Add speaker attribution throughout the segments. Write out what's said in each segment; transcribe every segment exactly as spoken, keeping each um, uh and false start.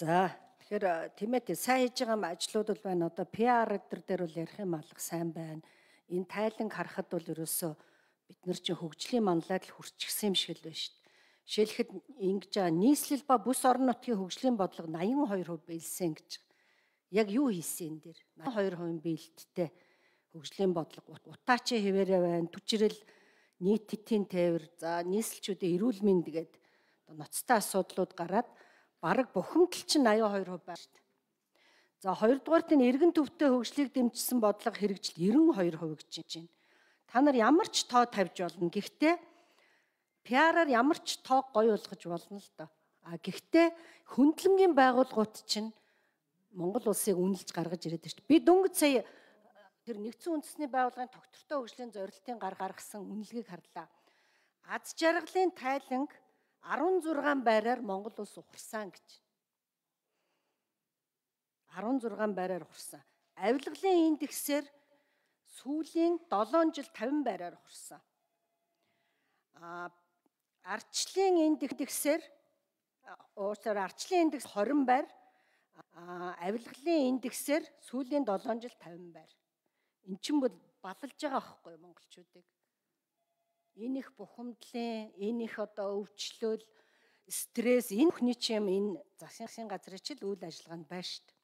Speaker 1: За тэгэхээр тиймээ сайн хийж байгаа ажлууд бол байна. Одоо пи ар эдэр дээр бол ярих юм алга сайн байна. Энэ тайланг харахад бол ерөөсөө бид нар чинь хөгжлийн манлайд л хүрчихсэн юм шиг л байна шүү дээ. Жишээлхэд ингэж байгаа нийслэл ба бүс орон нутгийн хөгжлийн бодлого найман хоёр хувь биелсэн гэж. Яг юу хийсэн энэ дээр? найман хоёр хувийн биелэлттэй хөгжлийн бодлого утаачийн хэвээрээ байна. Түчрэл нийтийн тээвэр, за нийслэлчүүдийн эрүүл мэнд гэдэг одоо ноцтой асуудлууд гараад бараг бухимдал чинь аяа хоёр хувь байна шүү дээ. За хоёрдугаарт нь эргэн төвтэй хөгжлийг дэмжсэн бодлого хэрэгжил девяносто хоёр хувь гэж байна. Та нар ямар ч тоо тавьж болно. Гэхдээ пи ар-аар ямар ч тоо гоё болгож болно л доо. А гэхдээ хөндлөнгийн байгууллагууд чинь Монгол улсыг үнэлж гаргаж ирээд байна шүү дээ. Би дөнгөж сая тэр нэгдсэн үндэсний байгууллагын тогтвортой хөгжлийн зорилтын гар гаргасан үнэлгээг харлаа. Аз жаргалын тайланг арван зургаан байраар Монгол улс ухарсан гэж. арван зургаан байраар ухарсан. Авилгалын индексээр сүүлийн долоон жил тавин байраар ухарсан. А арчлын индексээр уусаар арчлын индекс хорин байр, а авилгалын индексээр сүүлийн долоон жил тавин байр. Эн чинь бол балалж байгаа байхгүй монголчуудыг. Энэ их бухимдлын, энэ их одоо өвчлөл, стресс, энэ бүхний чинь энэ засгийн газрын чил үйл ажиллагаанд байна шүү дээ.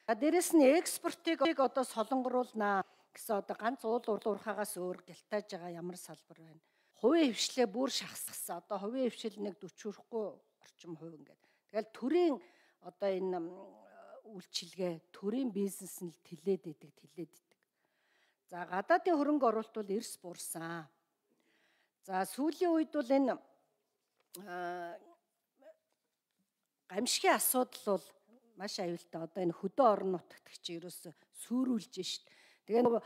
Speaker 1: А дээрэс нь экспортыг одоо солонгоруулнаа гэсэн одоо ганц уул уурхаагаас өөр гялтааж байгаа ямар салбар байна. Хувийн хвшлээ бүр шахсгасан. Одоо хувийн хвшил нэг сорок хүрэхгүй орчим хувь ингээд. Тэгэл төрийн одоо энэ үйлчилгээ, төрийн бизнес нь л тэлээд идэг, тэлээд идэг. За гадаадын хөрөнгө оруулалт бол эрс буурсан. За сүүлийн үед бол энэ гамшигын асуудал бол маш аюултай. Одоо энэ хөдөө орон нутагт чи ерөөсө сүрүүлж шít. Тэгээ нөгөө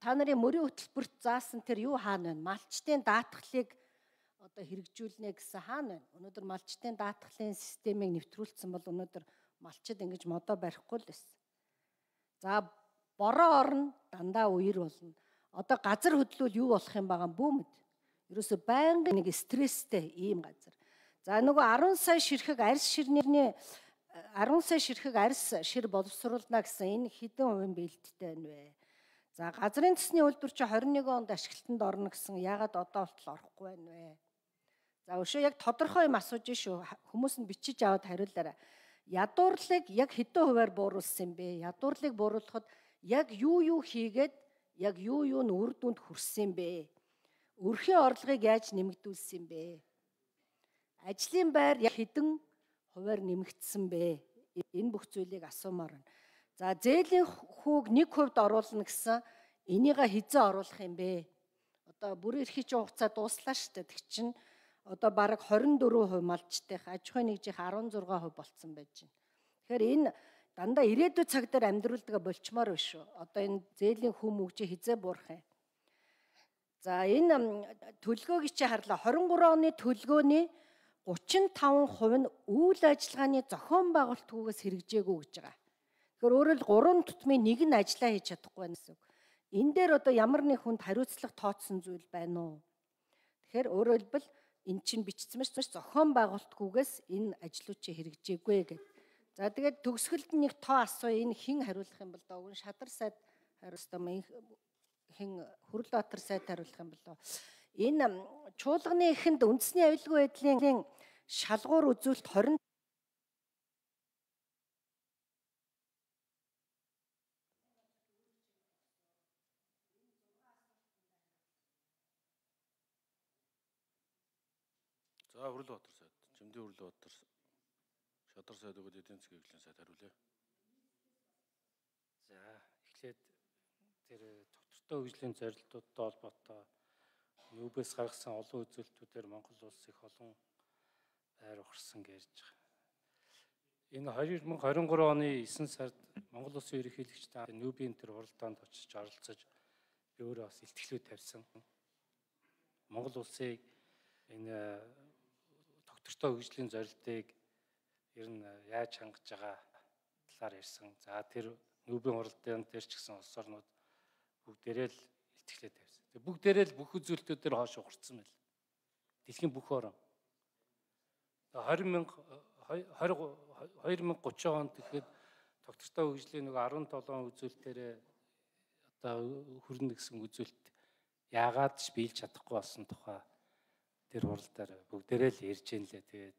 Speaker 1: та нарын мөрийн хөтөлбөрт заасан тэр юу хаана байна? Малчтын даатгалыг одоо хэрэгжүүлнэ гэсэн хаана байна? Өнөөдөр малчтын даатгалын системийг нэвтрүүлсэн бол өнөөдөр малчид ингэж модоо барихгүй л байсан. За бороо орно дандаа үер болно. Одоо газар хөдлөл юу болох юм байгаа бүү мэд. Ерөөсө байнгын нэг стресстэй ийм газар. За нөгөө арван сая ширхэг арьс ширнэрний арван сая ширхэг арьс шир боловсруулна гэсэн энэ хэдэн хувийн биелэлттэй байна вэ? За газрын төсний үйлдвэр чи двадцать one онд ашиглалтанд орно гэсэн яагаад одоо болтол орохгүй байна вэ? За өшөө яг тодорхой юм асууж шүү. Хүмүүс нь бичиж аваад хариулаарай. Ядуурлыг яг хэдэн хувиар бууруулсан бэ? Ядуурлыг бууруулахад яг юу юу хийгээд яг юу юу нь үр дүнд хүрсэн бэ? Өрхийн орлогыг яаж нэмэгдүүлсэн бэ? Ажлын байр яг хэдэн хувиар нэмэгдсэн бэ? Энэ бүх зүйлийг асуумаар байна. За зээлийн хүүг нэг хувьд оруулна гэсэн энийгээ хизээ оруулах юм бэ? Одоо бүр эрхий чинь хугацаа дууслаа шүү дээ. Тэг чинь одоо бараг двадцать four хувь малчтайх, аж ахуйн нэгжих sixteen хувь болцсон байж байна. Тэгэхээр энэ дандаа ирээдүйн цаг дээр амьдруулдаг болчмоор биш шүү. Одоо энэ зээлийн хүм мөгжи хизээ буурах юм. За энэ төлгөөг чи харлаа. twenty three оны төлгөөний thirty-five хувь нь үйл ажиллагааны зохион байгуулалтгүйгээс хэрэгжээгүй гэж байгаа. Тэгэхээр өөрөөр гурван тутмын нэг нь ажиллаа хийж чадахгүй байна гэсэн үг. Энэ дээр одоо ямар нэг хүнд хариуцлага тооцсон зүйл байна уу? Тэгэхээр өөрөөр хэлбэл эн чинь бичсэн маш зохион байгуулалтгүйгээс энэ ажлууд чи хэрэгжээгүй гэдэг. За тэгээд төгсгөлд нэг тоо асуу энэ хэн хариулах юм бол доо гэн шадар сайд хариулсан хэн Хүрлбаатар сайд хариулах юм болоо. Энэ чуулганы эхэнд үндэсний аюулгүй байдлын шалгуур үзүүлэлт twenty
Speaker 2: За Хүрлбаатар сайд, Жимдийн Хүрлбаатар шадар сайд өгөөд эдийн засгийн хөгжлийн сайд хариулъя.
Speaker 3: За эхлээд тэр тогтвортой хөгжлийн зорилтуудтай холбоотой ЮБ-с гаргасан олон үзүүлэлтүүдээр Монгол улс их олон байр ухарсан гэж байгаа. Энэ twenty twenty-three оны nine сард Монгол улсын ерөнхийлөгчтэй ЮБ-ийн тэр хуралдаанд очиж оролцож би өөрөө бас илтгэлүүд тавьсан. Монгол улсыг энэ тогтвортой хөгжлийн зорилтыг ер нь яаж хангаж байгаа талаар ярьсан. За тэр ЮБ-ийн хуралдаанд дээр ч гэсэн улс орнууд бүгдээрээ л илтгэлээ тавьсан. Тэг бүгдээрээ л бүх үзүүлэлтүүд дээр хойш ухарсан байл. Дэлхийн бүх орн. twenty хоёр мянга гурван онд тэгэхэд тогтвортой хөгжлийн нэг арван долоон үзүүлэлтээр одоо хүрнэ гэсэн үзүүлэлт яагаад ч биелж чадахгүй болсон тухай тэр хуралдаар бүгдээрээ л ярьж ийн лээ. Тэгээд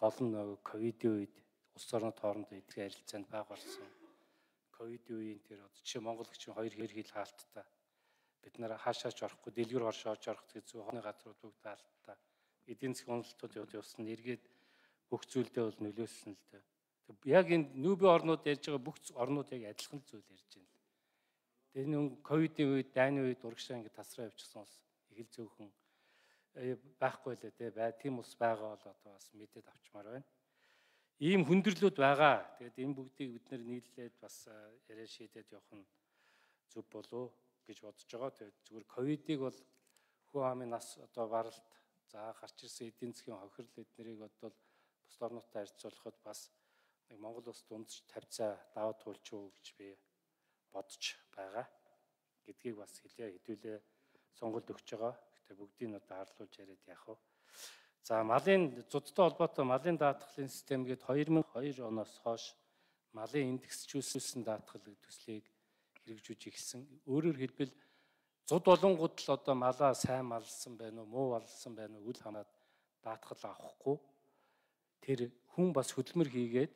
Speaker 3: гол нь ковидын үед улс орнууд хоорондоо эдгээр харилцаанд баг болсон. Ковидын үеийн тэр жишээ Монгол гिचийн хоёр хэр хил хаалттай. Бид нар хаашаач орохгүй, дэлгэр оршоож орох гэсэн хооны газрууд бүгд хаалттай. Эдийн засгийн уналтууд явуулсан эргээд бүх зүйлдээ бол нөлөөлсөн л дээ. Яг энэ нүүбэ орнууд ярьж байгаа бүх орнууд яг адилхан зүйл ярьж байна. Тэр нэг ковидын үед, дайны үед урагшаа ингэ тасраа явчихсан ус их л зөвхөн байхгүй лээ те. Бай тийм ус байгаа бол одоо бас мэдээд авчмаар байна. Ийм хүндрэлүүд байгаа. Тэгээд энэ бүгдийг бид нэр нийлээд бас яриа шийдээд явах нь зөв болов гэж бодож байгаа. Тэгээд зүгээр ковидыг бол хүү амын нас одоо баралт за гарч ирсэн эдийн засгийн хохирол эднэрийг бодвол бус орнуудтай харьцуулахад бас нэг Монгол улс дундч тавьцаа даваа туулч уу гэж би бодож байгаа гэдгийг бас хэлээ хэдүүлээ сонголт өгч байгаа. Гэтэ бүгдийг нь одоо харлуулж яриад яах вэ? За малын зудтай холбоотой малын даатгалын систем гээд хоёр мянга и хоёр оноос хойш малын индексжүүлсэн даатгал төслийг хэрэгжүүлж эхэлсэн. Өөрөөр хэлбэл зуд болонгууд л одоо малаа сайн малсан байна уу, муу малсан байна уу үл хамаад даатгал авахгүй. Тэр хүн бас хөдөлмөр хийгээд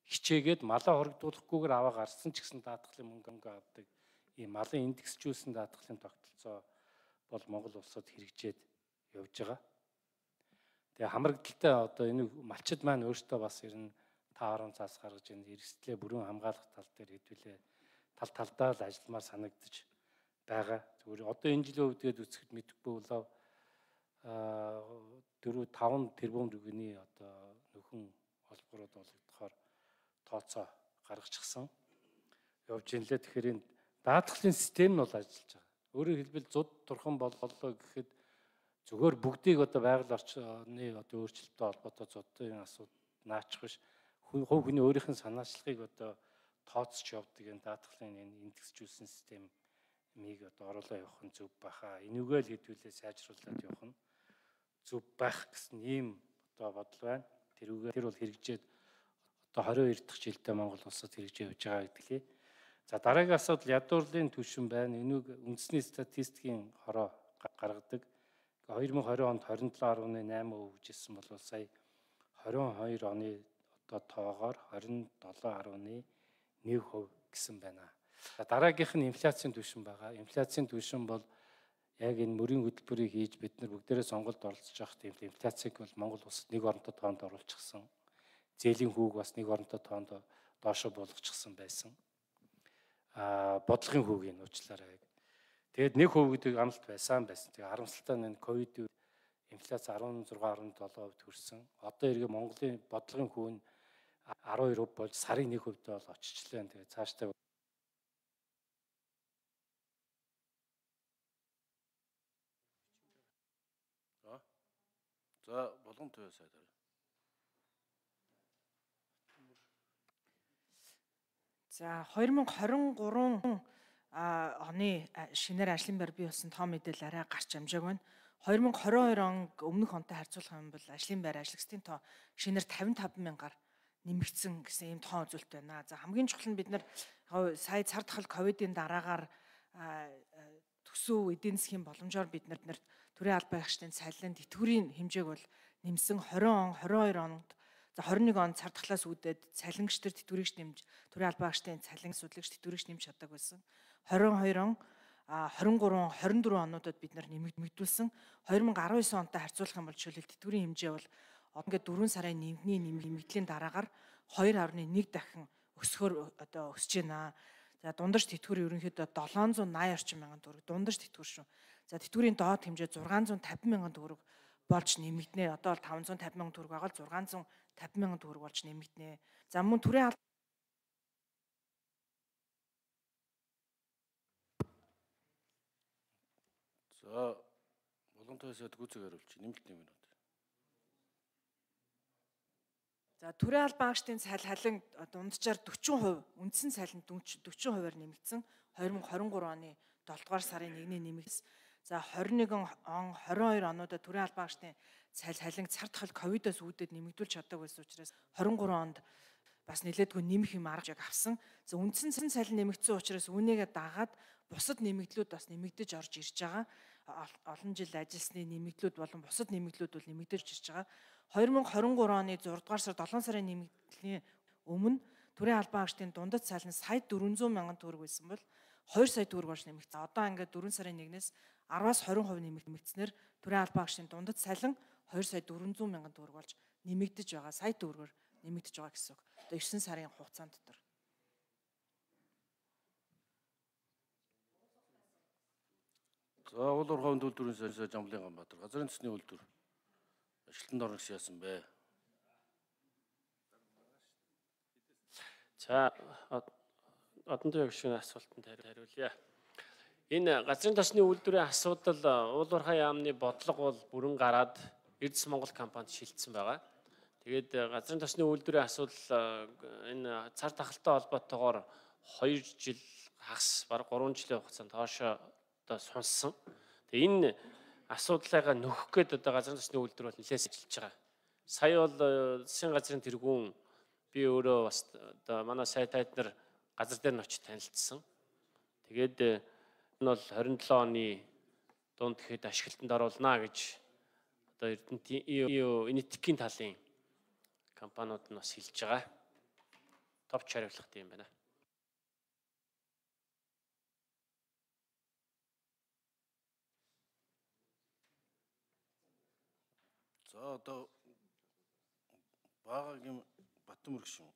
Speaker 3: хичээгээд малаа хоригдуулахгүйгээр аваа гарсан ч гэсэн даатгалын мөнгө авдаг. Ийм малын индексжүүлсэн даатгалын тогтолцоо бол Монгол улсад хэрэгжээд явж байгаа. Тэгээ хамрагдaltaй одоо энэ малчид маань өөртөө бас ер нь та орон цаас гаргаж энэ эрсдлээ бүрэн хамгаалах тал дээр хэдүүлээ тал талдаа л ажилламаар санагдаж байгаа. Зүгээр одоо энэ жилийн үедэд үсгэд мэдэхгүй болоо дөрөв таван тэрбум төгрөгийн одоо нөхөн холбоорууд болгохоор тооцоо гаргачихсан явж ин лээ. Тэгэхээр энэ даатгалын систем нь бол ажиллаж байгаа. Өөрөөр хэлбэл зуд турхан боллоо гэхэд зүгээр бүгдийг одоо байгаль орчны одоо өөрчлөлттэй холбоотой зодын асуудал наачих биш. Хувь хүний өөрийнх нь санаачлагыг одоо тооцож явдаг энэ даатгалын энэ индексжүүлсэн системийг одоо оруулаа явах нь зөв баха. Энийгээ л хэдүүлээ сайжруулад явах нь зөв байх гэсэн ийм одоо бодол байна. Тэрүүгээр тэр бол хэрэгжээд одоо хорин хоёр дахь жилдээ Монгол улсад хэрэгжиж явж байгаа гэдгийг. За дараагийн асуудал ядуурлын түвшин байна. Энийг үндэсний статистикийн хороо гаргадаг. хоёр мянга и двадцать онд двадцать seven гаруй найман хувь гэжсэн бол сая двадцать two оны одоо тоогоор двадцать seven гаруй one хувь гэсэн байна. За дараагийнх нь инфляцийн түвшин байгаа. Инфляцийн түвшин бол яг энэ мөрийн хөтөлбөрийг хийж бид нар бүгдээрээ сонголт оролцож байгаа тийм инфляцийг бол Монгол улсад нэг оронтой тоонд оруулчихсан. Зээлийн хүүг бас нэг оронтой тоонд доошо болгочихсан байсан. А бодлогын хүүгийн уучлаарай. Тэгэд нэг хувь гэдэг амлалт байсан байсан. Тэгээ харамсалтай нь ковид үед инфляц sixteen seven хувьд хүрсэн. Одоо эргээ Монголын бодлогын хүү нь twelve хувь болж сарын нэг хувьд бол очичлаа. Тэгээ цаашдаа
Speaker 2: За болгон төвөө сайд харъя.
Speaker 4: За two thousand twenty-three оны шинээр ажлын байр бий болсон тоо мэдээлэл арай гарч амжааг байна. two thousand twenty-two он өмнөх онтой харьцуулах юм бол ажлын байр ажлагчдын тоо шинээр fifty-five мянгаар нэмэгдсэн гэсэн ийм тоо үзүүлэлт байна. За хамгийн чухал нь бид нар сая цар тахал ковидын дараагаар төсөв эдийн засгийн боломжоор бид нар төрийн албан агчдын цалин тэтгэврийн хэмжээг бол нэмсэн. twenty он twenty-two онд за twenty-one он цар тахлаас үүдээд цалингч төр тэтгэврийг нэмж төрийн албан агчдын цалин асуудлагч тэтгэврийг нэмж чаддаг байсан. twenty-two он twenty-three twenty-four онуудад бид нар нэмэгдүүлсэн. two thousand nineteen онтой харьцуулах юм бол жишээлбэл тэтгэврийн хэмжээ бол одоо ингээд four сарын нэмгний нэмэгдлийн дараагаар two point one дахин өсгөхөөр одоо өсөж байна. За дундаж тэтгэвэр ерөнхийдөө seven eighty орчим мянган төгрөг дундаж тэтгэвэр шүү. За тэтгэврийн доод хэмжээ six fifty мянган төгрөг болж нэмэгдэнэ. Одоо бол five fifty мянган төгрөг байгаа л six fifty мянган төгрөг болж нэмэгдэнэ. За мөн төрийн
Speaker 2: За болгон төвөөсөд гүцэг хариулж нэмэлт нэг минут.
Speaker 4: За төрийн албан агчдын цалин халин дунджаар forty percent, үндсэн цалин forty percent-аар нэмэгдсэн. twenty twenty-three оны seven дугаар сарын one-ний нэмэгдсэн. За двадцать один он двадцать two онуудад төрийн албан хаагчдын цалин цар тахал ковидоос үүдээд нэмэгдүүлж чаддаг байсан учраас двадцать three онд бас нэлээдгүй нэмэх юм арга яг авсан. За үндсэн цалин нэмэгдсэн учраас үүнийгээ дагаад бусад нэмэгдлүүд бас нэмэгдэж орж ирж байгаа. Олон жил ажилласны нэмэгдлүүд болон бусад нэмэгдлүүд бол нэмэгдэж ирж байгаа. двадцать twenty-three оны six дугаар сар seven сарын нэмэгдлийн өмнө төрийн албан хаагчдын дундад цалин сая four hundred мянган төгрөг байсан бол two сая төгрөг болж нэмэгдсэн. Одоо ингээд four сарын one-ээс ten-аас twenty percent нэмэгдснээр төрийн албан хаагчдын дундад цалин two сая four hundred мянган төгрөг болж нэмэгдэж байгаа. Сая төгрөгөөр нэмэгдэж байгаа гэсэн үг. Одоо nine сарын хугацаанд дотор.
Speaker 2: За уул уурхайн үйлдвэрийн сайд Жамблын Ганбаатар газрын төсний үйлдвэр ажилтнанд орно гэсэн яасан бэ?
Speaker 5: За одон төвийн гишүүний асуултанд хариулъя. Энэ газрын төсний үйлдвэрийн асуудал уул уурхай яамны бодлого бол бүрэн гараад Эрдэс Монгол компанид шилжсэн байгаа. Тэгээд газрын төсний үйлдвэрийн асуудал энэ цар тахалтай холбоотойгоор two жил хагас бараг three жилийн хугацаанд тоошоо одоо сунсан. Тэгээ энэ асуудлаагаа нөхөх гээд одоо газрын төсний үйлдвэр бол нэлээд ажиллаж байгаа. Сая бол засгийн газрын тэргүүн би өөрөө бас одоо манай сайд тайднаар газар дээр нь очиж танилцсан. Тэгээд энэ бол twenty-seven оны дунд гэхэд ашиглалтанд оруулнаа гэж одоо Эрдэнэтийн энэтхэгийн талын компаниуд нь бас хэлж байгаа. Товч хариулах юм байна.
Speaker 2: За одоо Багагийн Батмөр гишүүн